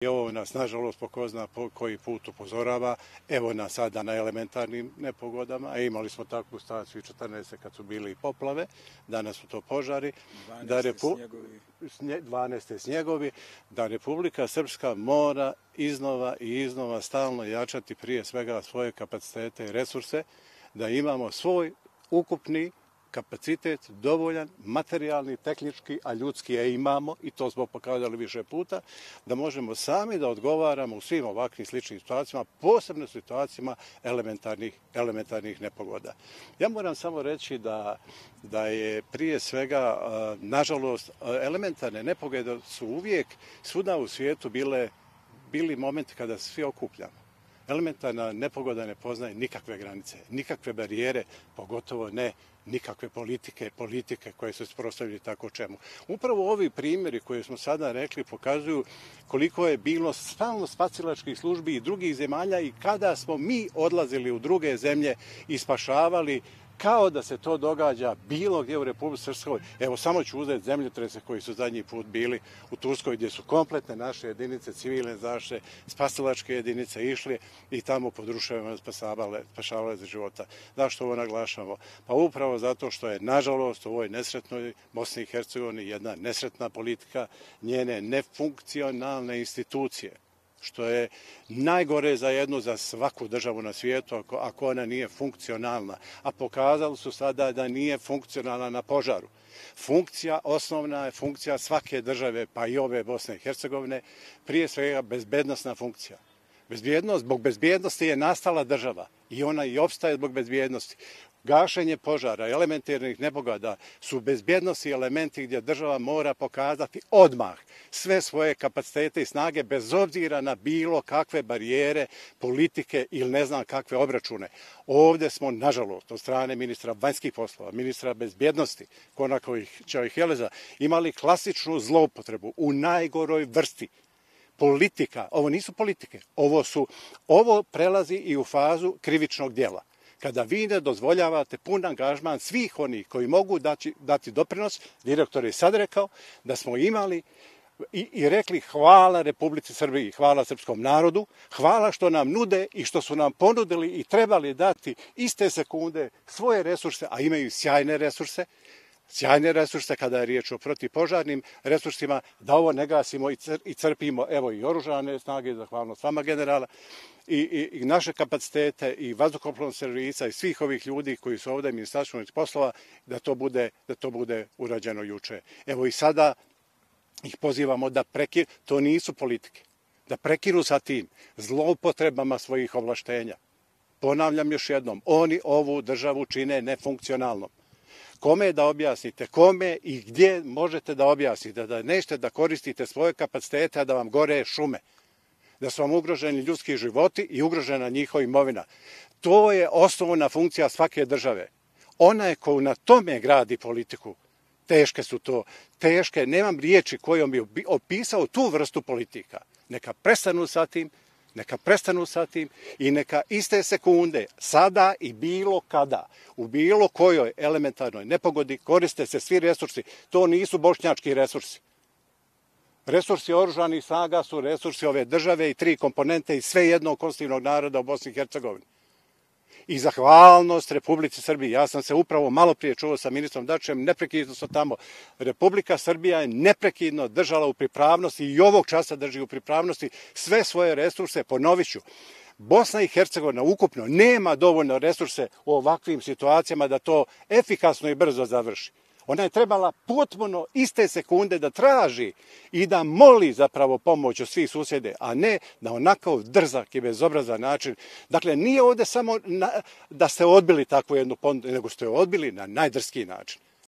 I ovo nas, nažalost, po ko zna koji put upozorava. Evo nas sada na elementarnim nepogodama. Imali smo takvu situaciju 14. kad su bili poplave, danas su to požari. 12. snjegovi. Da Republika Srpska mora iznova i iznova stalno jačati prije svega svoje kapacitete i resurse, da imamo svoj ukupni kapacitet dovoljan, materijalni, tehnički, a ljudski je imamo i to smo pokazali više puta, da možemo sami da odgovaramo u svim ovakvim sličnim situacijama, posebno situacijama elementarnih nepogoda. Ja moram samo reći da je prije svega, nažalost, elementarne nepogode su uvijek svuda u svijetu bili momenti kada se svi okupljamo. Elementarna nepogoda ne poznaje nikakve granice, nikakve barijere, pogotovo ne nikakve politike koje su suprotstavljene tako čemu. Upravo ovi primjeri koje smo sada rekli pokazuju koliko je bilo stalno spasilačkih službi i drugih zemalja i kada smo mi odlazili u druge zemlje i spašavali kao da se to događa bilo gdje u Republici Srpskoj. Evo, samo ću uzeti zemljotrese koji su zadnji put bili u Turskoj, gdje su kompletne naše jedinice, civilne zaštite, spasilačke jedinice išli i tamo pod ruševinama spašavale za života. Zašto ovo naglašamo? Pa upravo zato što je, nažalost, u ovoj nesretnoj Bosni i Hercegovini jedna nesretna politika, njene nefunkcionalne institucije, što je najgore za svaku državu na svijetu ako ona nije funkcionalna. A pokazali su sada da nije funkcionalna na požaru. Osnovna je funkcija svake države, pa i ove Bosne i Hercegovine, prije svega bezbednosna funkcija. Zbog bezbjednosti je nastala država i ona i opstaje zbog bezbjednosti. Gašenje požara, elementarnih nepogoda su bezbjednosti elementi gdje država mora pokazati odmah sve svoje kapacitete i snage bez obzira na bilo kakve barijere, politike ili ne znam kakve obračune. Ovdje smo, nažalost, od strane ministra vanjskih poslova, ministra bezbjednosti, Konaković i Heleza, imali klasičnu zloupotrebu u najgoroj vrsti. Politika, ovo nisu politike, ovo prelazi i u fazu krivičnog djela. Kada vi ne dozvoljavate pun angažman svih onih koji mogu dati doprinos, direktor je sad rekao da smo imali i rekli hvala Republici Srbiji, hvala srpskom narodu, hvala što nam nude i što su nam ponudili i trebali dati iste sekunde svoje resurse, a imaju sjajne resurse kada je riječ o protivpožarnim resursima, da ovo ne gasimo i crpimo, evo i oružane snage, zahvalnost vama generala, i naše kapacitete i vazduhoplovnog servisa i svih ovih ljudi koji su ovdje Ministarstvo unutarnjih poslova, da to bude urađeno juče. Evo i sada ih pozivamo da prekinu, to nisu politike, da prekinu sa tim zloupotrebama svojih ovlaštenja. Ponavljam još jednom, oni ovu državu čine nefunkcionalnom. Kome da objasnite, kome i gdje možete da objasnite da nećete da koristite svoje kapacitete, a da vam gore šume, da su vam ugroženi ljudski životi i ugrožena njihova imovina. To je osnovna funkcija svake države. Onaj ko na tome gradi politiku, teške su to, nemam riječi kojom bi opisao tu vrstu politika. Neka prestanu sa tim i neka iste sekunde, sada i bilo kada, u bilo kojoj elementarnoj nepogodi koriste se svi resursi. To nisu bošnjački resursi. Resursi oružanih snaga su resursi ove države i 3 komponente i sve jednog konstitutivnog naroda u Bosni i Hercegovini. I zahvalnost Republici Srbiji. Ja sam se upravo malo prije čuo sa ministrom Dačićem, neprekidno su tamo. Republika Srbija je neprekidno držala u pripravnosti i ovog časa drži u pripravnosti sve svoje resurse, ponovit ću. Bosna i Hercegovina ukupno nema dovoljno resurse u ovakvim situacijama da to efikasno i brzo završi. Ona je trebala potpuno iste sekunde da traži i da moli zapravo pomoć od svih susjede, a ne na onako drzak i bezobrazan način. Dakle, nije ovdje samo da ste odbili takvu jednu ponudu, nego ste odbili na najdrskiji način.